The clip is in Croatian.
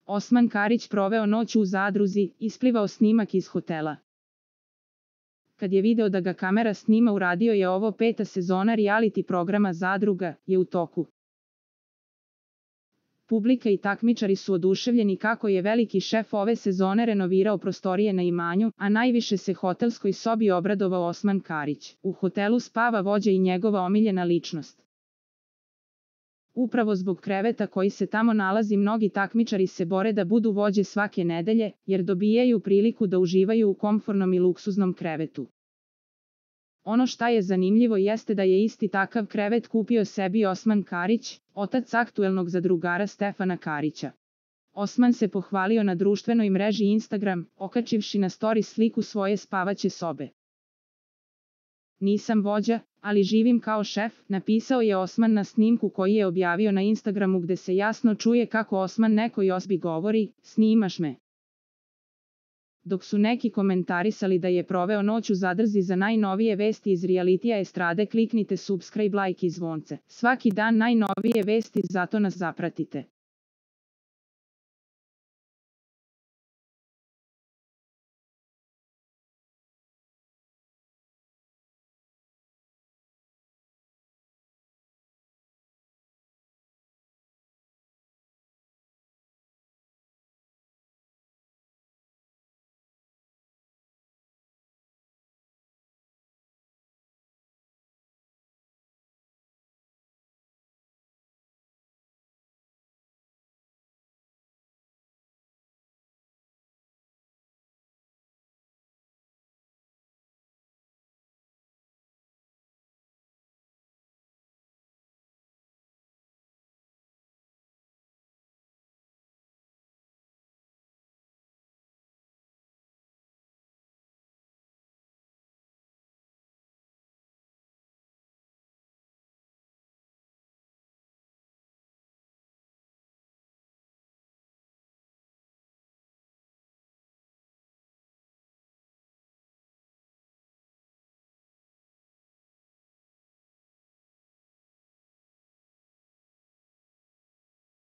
Osman Karić proveo noć u Zadruzi, isplivao snimak iz hotela. Kad je video da ga kamera snima, uradio je ovo. 5. sezona reality programa Zadruga je u toku. Publika i takmičari su oduševljeni kako je veliki šef ove sezone renovirao prostorije na imanju, a najviše se hotelskoj sobi obradovao Osman Karić. U hotelu spava vođa i njegova omiljena ličnost. Upravo zbog kreveta koji se tamo nalazi, mnogi takmičari se bore da budu vođe svake nedelje, jer dobijaju priliku da uživaju u komfornom i luksuznom krevetu. Ono šta je zanimljivo jeste da je isti takav krevet kupio sebi Osman Karić, otac aktuelnog zadrugara Stefana Karića. Osman se pohvalio na društvenoj mreži Instagram, okačivši na story sliku svoje spavaće sobe. "Nisam vođa, ali živim kao šef", napisao je Osman na snimku koji je objavio na Instagramu, gde se jasno čuje kako Osman nekoj osobi govori: "Snimaš me?" Dok su neki komentarisali da je proveo noć u Zadrzi. Za najnovije vesti iz realitija estrade kliknite subscribe, like i zvonce. Svaki dan najnovije vesti, zato nas zapratite.